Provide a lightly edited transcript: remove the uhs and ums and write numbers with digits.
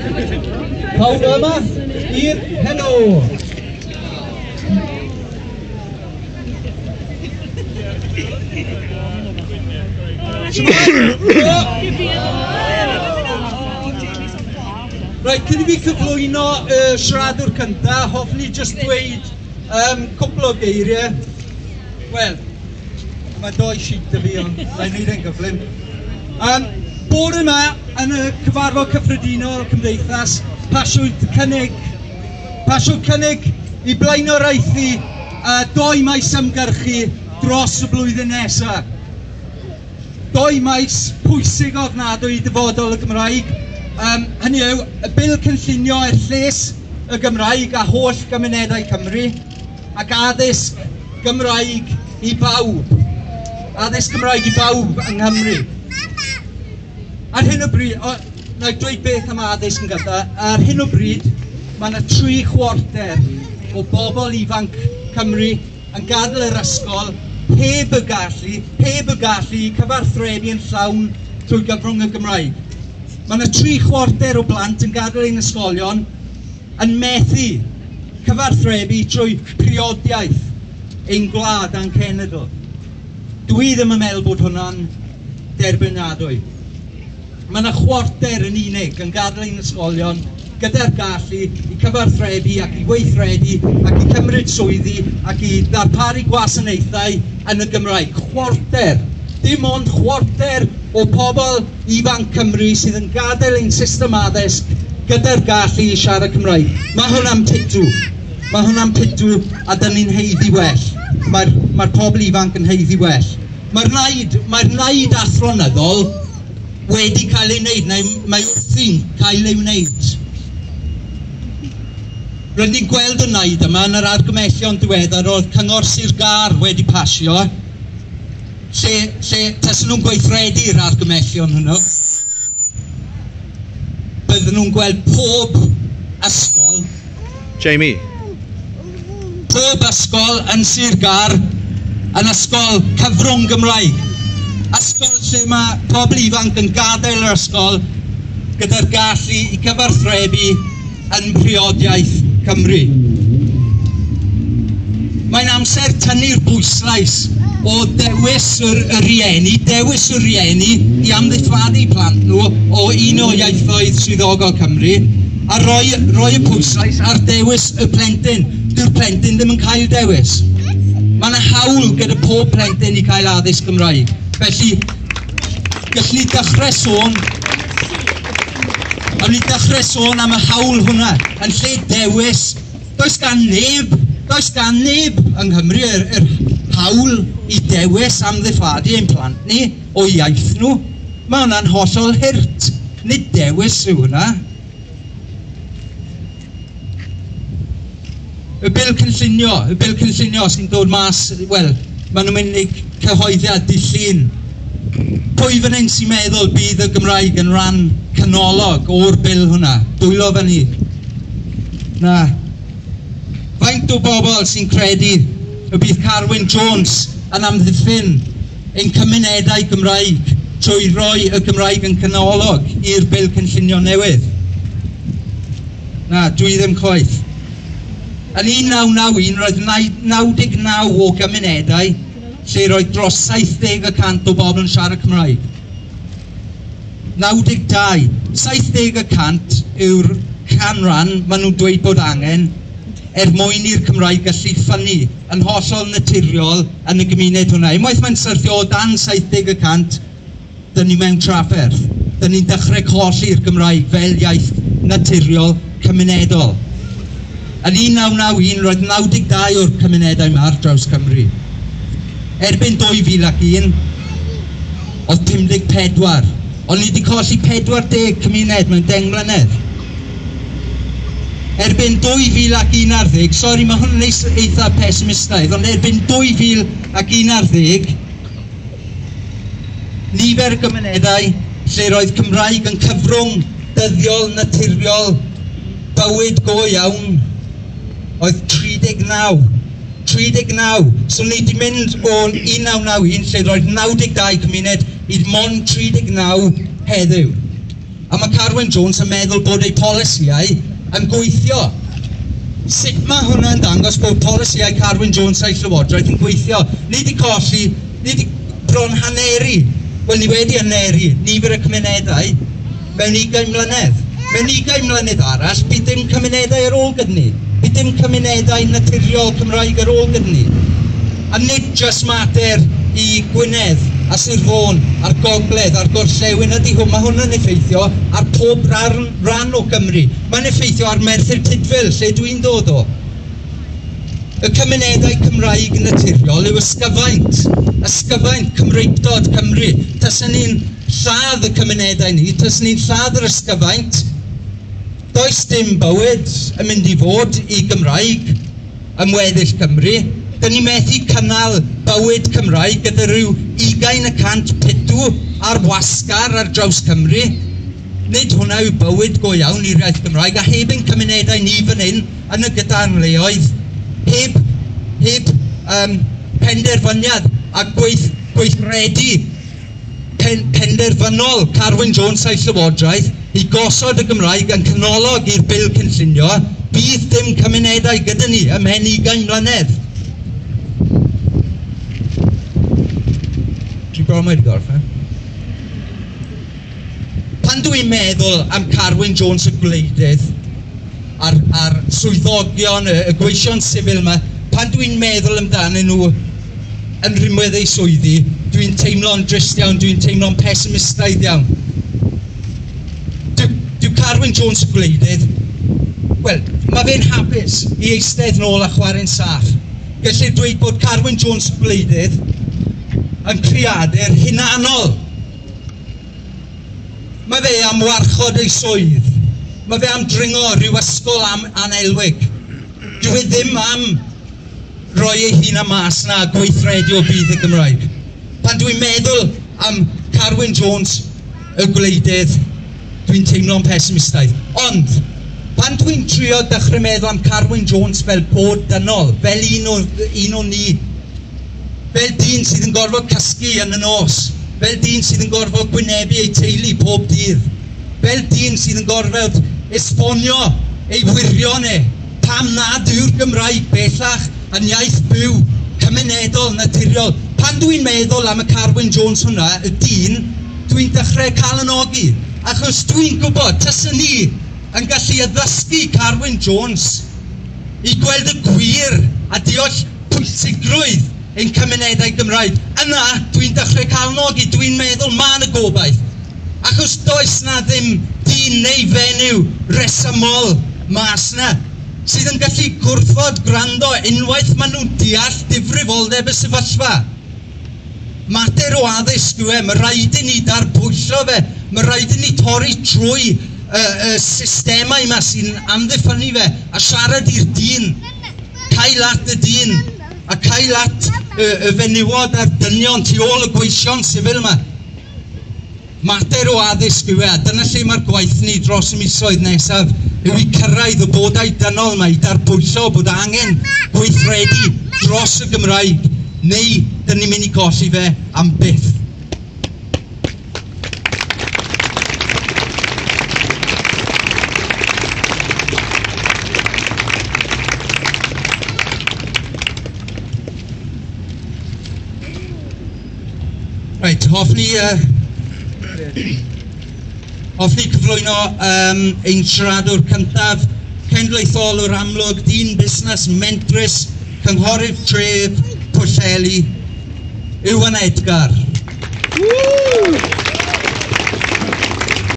Pawb yma i'r heno. Reit, cyn i fi cyflwyno y siaradwr cyntaf, hoffwn i jyst dweud cwpl o geiriau. Wel, mae doi sheet 'da fi, ond na i wneud e'n gyflym. Bore yma, yn y cyfarfod cyffredinol Cymdeithas, pasiwyd cynnig i blaenoriaethu doi maes ymgyrchu dros y blwyddyn nesaf. Doi maes pwysig ofnadwy i dyfodol y Gymraeg. Hynny yw, y bil cynllunio er lles y Gymraeg a holl gymunedau Cymru, ac addysg Gymraeg i bawb. Addysg Gymraeg i bawb yng Nghymru. Ar hyn o bryd, na i dweud beth am addysg yn gyntaf, ar hyn o bryd mae yna 3/4 o bobl ifanc Cymru yn gadael yr ysgol heb y gallu cyfathrebu yn llawn trwy gyfrwng y Gymraeg. Mae yna 3/4 o blant yn gadael ein ysgolion yn methu cyfathrebu trwy priodiaeth ein gwlad a'n cenedl. Dwi ddim yn meddwl bod hwnna'n derbyniadwy. Mae yna 1/4 yn unig yn gadael ein ysgolion gyda'r gallu i cyfathrebu ac i weithredu ac i cymryd swyddi ac i ddarparu gwasanaethau yn y Gymraeg. 1/4. Dim ond 1/4 o pobl ifanc Cymru sydd yn gadael ein system addysg gyda'r gallu i siarad Cymraeg. Mae hwnna'n pitw. Mae hwnna'n pitw a dyn ni'n haeddu well. Mae'r pobl ifanc yn haeddu well. Mae'r naid athronyddol wedi cael ei wneud, neu mae wrthi'n cael ei wneud. Rydyn ni'n gweld y naid yma yn yr argymellion diweddar oedd Cyngor Sir Gâr wedi pasio, lle tasen nhw'n gweithredu'r argymellion hwnnw, bydden nhw'n gweld pob ysgol, Jamie. Pob ysgol yn Sir Gâr yn ysgol cyfrwng Gymraeg. Ysgol lle mae pobl ifanc yn gadael yr ysgol gyda'r gallu i cyfathrebu yn priodiaeth Cymru. Mae'n amser tynnu'r pwyslais o dewis y rhieni, dewis y rhieni i amddiffadu plant nhw o un o ieithoedd swyddogol Cymru, a rhoi y pwyslais ar dewis y plentyn. Dyw'r plentyn ddim yn cael dewis. Mae yna hawl gyda pob plentyn i cael addysg Gymraeg. Felly, gallwn ni dechrau sôn am y hawl hwnna yn lle dewis. Does gan neb yng Nghymru yr hawl i dewis amddiffadu ein plant ni o iaith nhw. Mae hwnna'n hollol hurt. Nid dewis yw hwnna. Y bil cynllunio sy'n dod mas, wel, maen nhw'n mynd i cyhoeddiad dydd Llun. Pwy fan hyn sy'n meddwl bydd y Gymraeg yn rhan canolog o'r bil hwnna? Dwylo fyny. Na. Faint o bobl sy'n credu y bydd Carwyn Jones yn amddiffyn ein cymunedau Gymraeg trwy roi y Gymraeg yn canolog i'r bil cynllunio newydd? Na, dwi ddim chwaith. Yn 1991 roedd 99 o gymunedau lle roedd dros 70% o bobl yn siarad Cymraeg. 92. 70% yw'r canran maen nhw'n dweud bod angen er mwyn i'r Cymraeg gallu ffynnu yn hollol naturiol yn y gymuned hwnna. Unwaith mae'n syrthio o dan 70%, dyn ni mewn trafferth. Dyn ni'n dechrau colli'r Gymraeg fel iaith naturiol cymunedol. Yn 1991 roedd 92 o'r cymunedau yma ar draws Cymru. Erbyn 2001 oedd 54, ond ni wedi colli 40 cymuned mewn 10 mlynedd. Erbyn 2011, sori mae hwn yn eitha pessimistaidd, ond erbyn 2011, nifer y gymunedau lle roedd Cymraeg yn cyfrwng dyddiol, naturiol, bywyd go iawn, oedd 39. 39. So ni wedi mynd o 1991 lle roedd 92 cymuned i mond 39 heddiw. A mae Carwyn Jones yn meddwl bod ei polisïau yn gweithio. Sut mae hwnna'n dangos bod polisïau Carwyn Jones a'i Llywodraeth yn gweithio? Ni wedi colli, ni wedi bron haneru, wel ni wedi haneru nifer y cymunedau mewn 20 mlynedd. Mewn 20 mlynedd arall, bydd dim cymunedau ar ôl gyda ni. Bydd dim cymunedau naturiol Cymraeg ar ôl gyda ni. A nid jyst mater i Gwynedd a Sir Fôn a'r Gogledd a'r Gorllewin ydy hwn. Mae hwn yn effeithio ar pob rhan o Gymru. Mae'n effeithio ar Merthyr Tudful, lle dwi'n dod o. Y cymunedau Cymraeg naturiol yw ysgyfaint Cymreictod Cymru. Taswn ni'n lladd y cymunedau ni, taswn ni'n lladd yr ysgyfaint, does dim bywyd yn mynd i fod i Gymraeg ym weddill Cymru. Dyn ni methu cynnal bywyd Cymraeg gyda rhyw 20% pitw ar wasgar ar draws Cymru. Nid hwnna yw bywyd go iawn i'r iaith Gymraeg, a heb ein cymunedau ni fan hyn yn y gyda'n leoedd, heb penderfyniad a gweithredu penderfynol Carwyn Jones a'i Llywodraeth i gosod y Gymraeg yn canolog i'r bil cynllunio, bydd dim cymunedau gyda ni ymhen 20 mlynedd. Dwi'n bron wedi gorffen. Pan dwi'n meddwl am Carwyn Jones y gwleidydd a'r swyddogion, y gweision sifil yma, pan dwi'n meddwl amdanyn nhw yn rhinwedd eu swyddi, dwi'n teimlo'n drist iawn, dwi'n teimlo'n pessimistaidd iawn. Dyw Carwyn Jones y gwleidydd, wel, mae fe'n hapus i eistedd nôl a chwarae'n saff. Gellir dweud bod Carwyn Jones y gwleidydd yn creadur hunanol. Mae fe am warchod ei swydd. Mae fe am dringo rhyw ysgol am anelwig. Dyw e ddim am roi ei hun am mas na gweithredu o budd y Gymraeg. Pan dwi'n meddwl am Carwyn Jones y gwleidydd, dwi'n teimlo'n pessimistaidd. Ond, pan dwi'n trio dechrau meddwl am Carwyn Jones fel bod dynol, fel un o ni, fel dyn sydd yn gorfod cysgu yn y nos, fel dyn sydd yn gorfod gwynebu ei teulu pob dydd, fel dyn sydd yn gorfod esbonio ei wirion e, pam nad yw'r Gymraeg bellach yn iaith byw, cymunedol, naturiol. Pan dwi'n meddwl am y Carwyn Jones hwnna, y dyn, dwi'n dechrau calonogi, achos dwi'n gwybod, taswn ni yn gallu addysgu Carwyn Jones i gweld y gwir a deall pwysigrwydd ein cymunedau Gymraeg. Yna, dwi'n dechrau calonogi, dwi'n meddwl ma' 'na gobaith. Achos does na ddim dyn neu fenyw resymol mas na sydd yn gallu gwrthod gwrando unwaith maen nhw'n deall difrifoldeb y sefyllfa. Mater o addysg yw e, mae rhaid i ni darbwyllo fe, mae rhaid i ni torri trwy y systemau yma sy'n amddiffynnu fe a siarad i'r dyn, cael at y dyn a cael at y fenywod a'r dynion tu ôl y gweision sifil yma. Mater o addysg yw e, a dyna lle mae'r gwaith ni dros y misoedd nesaf yw i cyrraedd y bodau dynol yma, i darbwyllo bod angen gweithredu dros y Gymraeg, neu dyn ni'n mynd i golli fe am byth. Reit, hoffwn i cyflwyno ein siaradwr cyntaf, cenedlaetholwr amlwg, dyn busnes mentrus, cynghorydd tref Pwllheli, Iwan Edgar.